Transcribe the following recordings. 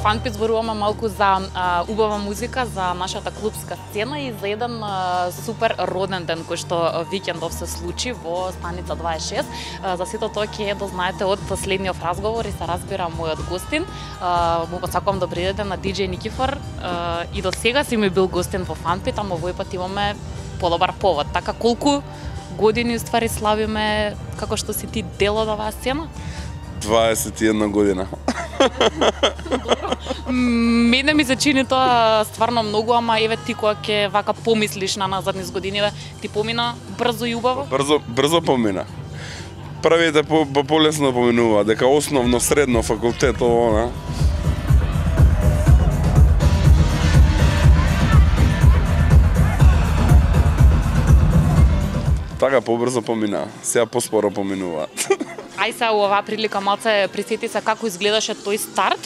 Фанпит зборуваме малку за убава музика, за нашата клубска сцена и за еден супер роден ден кој што викендов се случи во станица 26. За сето тоа ќе да знаете од следниот разговор и се разбира мојот гостин. Му посакувам добри ден на DJ Никифор и до сега си ми бил гостин во Фанпит, ама овој пат имаме подобар повод. Така колку години уствари славиме како што си ти дел од оваа сцена? 21 година. Мене ми се чини тоа стварно многу, ама еве ти кога ќе вака помислиш на назад низ годиниве, ти помина брзо и убаво? Брзо помина. Првите полесно поминува, дека основно, средно, факултет, ово, така побрзо помина, сега поспоро поминуваат. Ај се оваа прилика малце присети се како изгледаше тој старт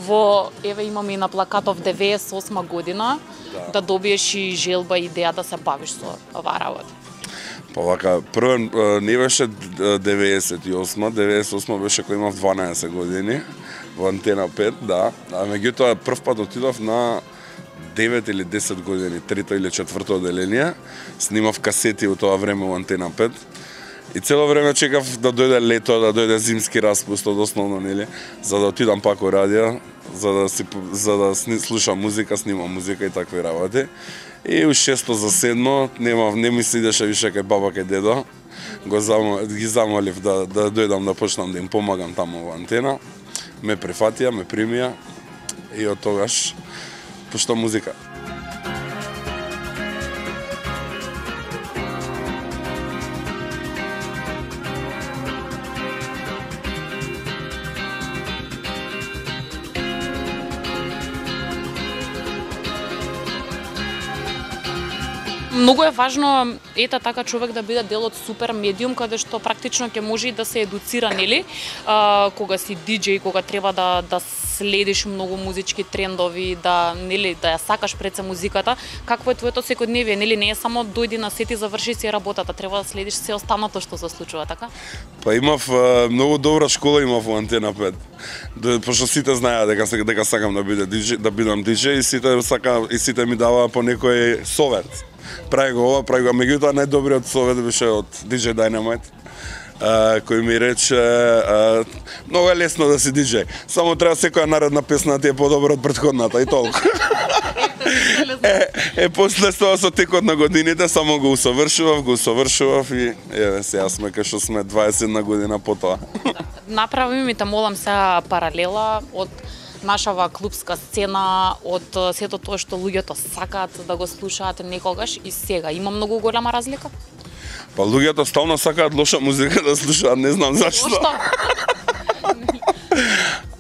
во, еве имаме и на плакатов 98 година, да добиеш и желба и идеја да се бавиш со оваа работа. Па вака, прво не беше 98 беше кога имав 12 години во Антена 5, да. А меѓутоа прв пат отидов на 9 или 10 години, трето или четврто одделение, снимав касети во тоа време во Антена 5. И цело време чекав да дојде лето, да дојде зимски распуст од основно, нели, за да отидам пак во радио, за да слушам музика, снимам музика и такви работи. И у 6 за 7 не ми се идеше више кај баба кај дедо. Ги замолив да дојдам да почнам да им помагам таму во Антена. Ме прифатија, ме примија и од тогаш пуштам музика. Многу е важно ета така човек да биде дел од супер медиум каде што практично ќе може и да се едуцира, нели? Кога си диџеј, кога треба да следиш многу музички трендови, да ја сакаш пред се музиката, какво е твоето секојдневие, нели? Не е само дојди на сет и заврши си работата, треба да следиш се останато што се случува, така? Па имав многу добра школа имав во Антена 5. Пошто сите знаеа дека сакам да бидам диџеј и сите ми даваа по некој совет. Прави го ова, прави го, меѓутоа најдобриот совет беше од DJ Dynamite, кој ми рече многу е лесно да си диџеј, само треба секоја наредна песна да ти е подобра од претходната и толку. После тоа со текот на годините само го усовршував и еве сега сме кај што сме 21 година по тоа. Направи ми те молам сега паралела од нашава клубска сцена, од сето тоа што луѓето сакаат да го слушаат некогаш и сега. Има многу голема разлика? Па луѓето стално сакаат лоша музика да слушаат, не знам зашто.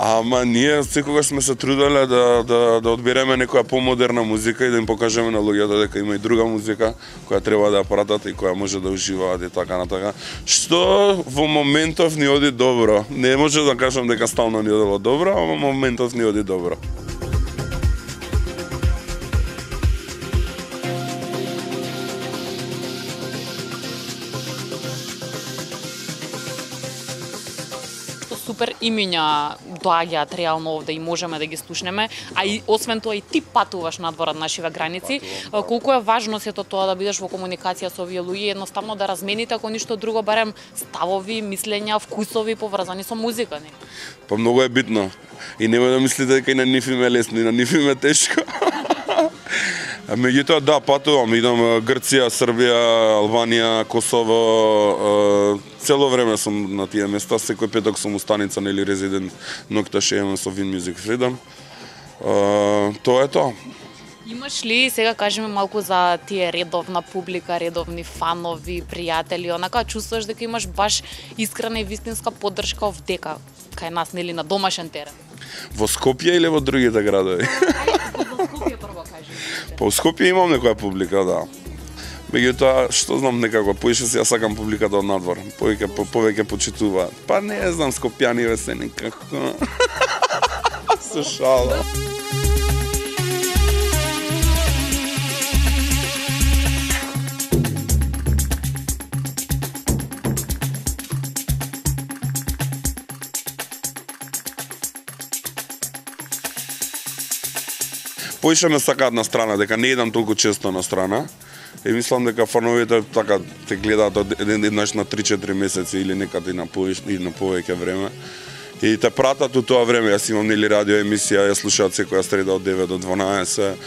Ама ние секогаш сме се труделе да одбереме некоја помодерна музика и да им покажеме на луѓето дека има и друга музика која треба да ја пратат и која може да уживаат и така на така. Што во моментов ни оди добро. Не може да кажам дека стално ни одело добро, ама во моментов ни оди добро. Супер имиња доаѓаат реално овде и можеме да ги слушнеме, а и освен тоа и ти патуваш надвор од нашиве граници. Колку е важно сето тоа да бидеш во комуникација со овие луѓе, едноставно да размените ако ништо друго барем ставови, мислења, вкусови поврзани со музика, не? Па многу е битно. И немој да мислите дека и на нив им е лесно, и на нив им е тешко. Меѓутоа да, патувам, идам Грција, Србија, Албанија, Косово, цело време сум на тие места, секој петок сум у станица, нели резидент Нокташ имам со Win Music Freedom. Тоа е тоа. Имаш ли, сега кажеме малку за тие редовна публика, редовни фанови, пријатели, онака чувствуваш дека имаш баш искрена и вистинска поддршка овдека, кај нас, нели, на домашен терен? Во Скопје или во другите градови? Во Скопје прво кажи. Па во Скопје имам некоја публика, да. Меѓутоа, што знам некако, поише си ја сакам публиката од надвор. Повеќе почитуваат. Па не знам, скопјаниве се некако. Се шала. Поише ме сакаат на страна, дека не идам толку често на страна. И мислам дека фановите така те гледаат еднаш на 3-4 месеци или некаде и на повеќе време. И те пратат у тоа време, јас имам нели радио емисија, ја слушаат секоја среда од 9 до 12,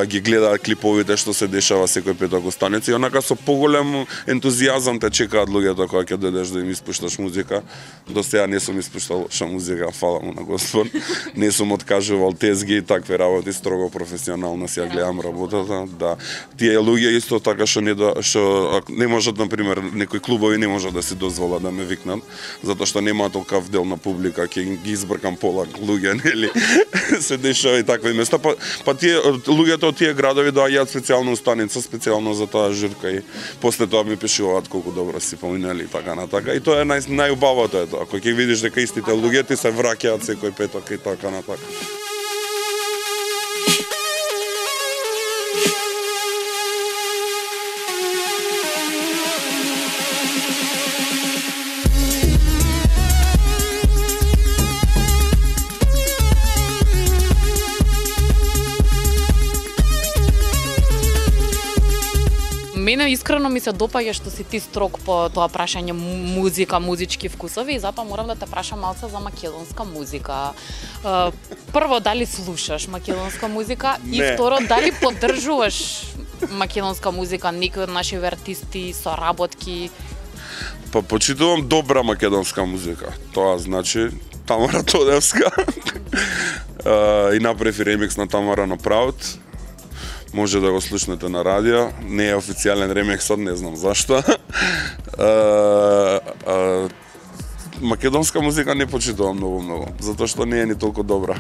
ги гледаат клиповите што се дешава секој петок во станица и онака со поголем ентузијазам те чекаат луѓето кога ќе дојдеш да им испушташ музика. До сега не сум испуштал лоша музика, фала му на Господ. Не сум откажувал тезги и такви работи, строго професионално си ја гледам работата. Да, тие луѓе исто така што не можат, на пример, некои клубови не можат да си дозволат да ме викнат, затоа што немаат толков дел на публика, ќе ги избркам пола луѓе, нели? Се дешава и такви места. Па тие луѓето од тие градови доаѓаат специјално у станица, специјално за таа журка и после тоа ми пишуваат колку добро си поминали и така на така. И тоа е најубавото е тоа. Кога ќе видиш дека истите луѓе ти се враќаат секој петок и така на така. Мене искрено ми се допаѓа што си ти строг по тоа прашање музика, музички вкусови и затоа морам да те прашам малце за македонска музика. Прво, дали слушаш македонска музика? Не. И второ, дали поддржуваш македонска музика, некои од наши артисти, соработки? Па почитувам добра македонска музика. Тоа значи Тамара Тодевска. И направи ремикс на Тамара на Proud. Може да го слушнете на радио. Не е официјален ремиксот, не знам зашто. Македонска музика не почитувам многу, затоа што не е ни толку добра.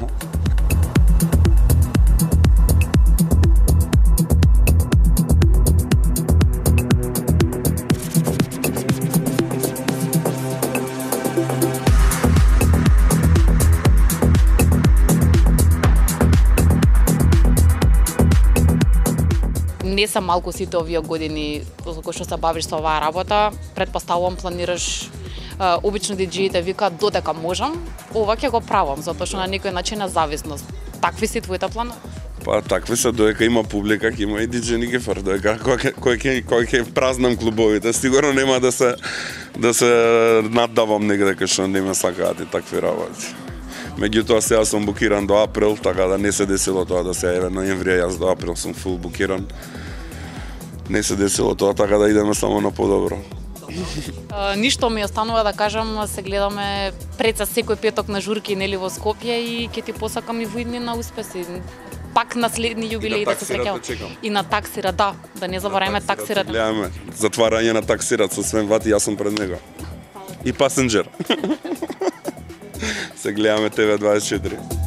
Не се малку сите овие години кога што се бавиш со оваа работа, претпоставувам планираш обично диџеите викаат додека можам, ова ќе го правам, затоа што на некој начин е зависност. Такви си твоите планови? Па такви се, додека има публика, ќе има и диџеј Никифор, додека кој ќе празнам клубовите, сигурно нема да се наддавам негде кај што не ме сакаат и такви работи. Меѓутоа сега сум букиран до април, така да не се десило тоа да се еве ноември, јас до април сум фул букиран. Не се десило тоа, така да идеме само на подобро. Ништо ми останува да кажам, се гледаме пред секој петок на журки нели во Скопје и ќе ти посакам и воидни на успеси. Пак на следни јубилеи да се среќаваме. И на таксира, да не забораваме таксират. Гледаме затварање на таксират со Свен Вати, јас сум пред него. И Пасенџер. Се гледаме ТВ24.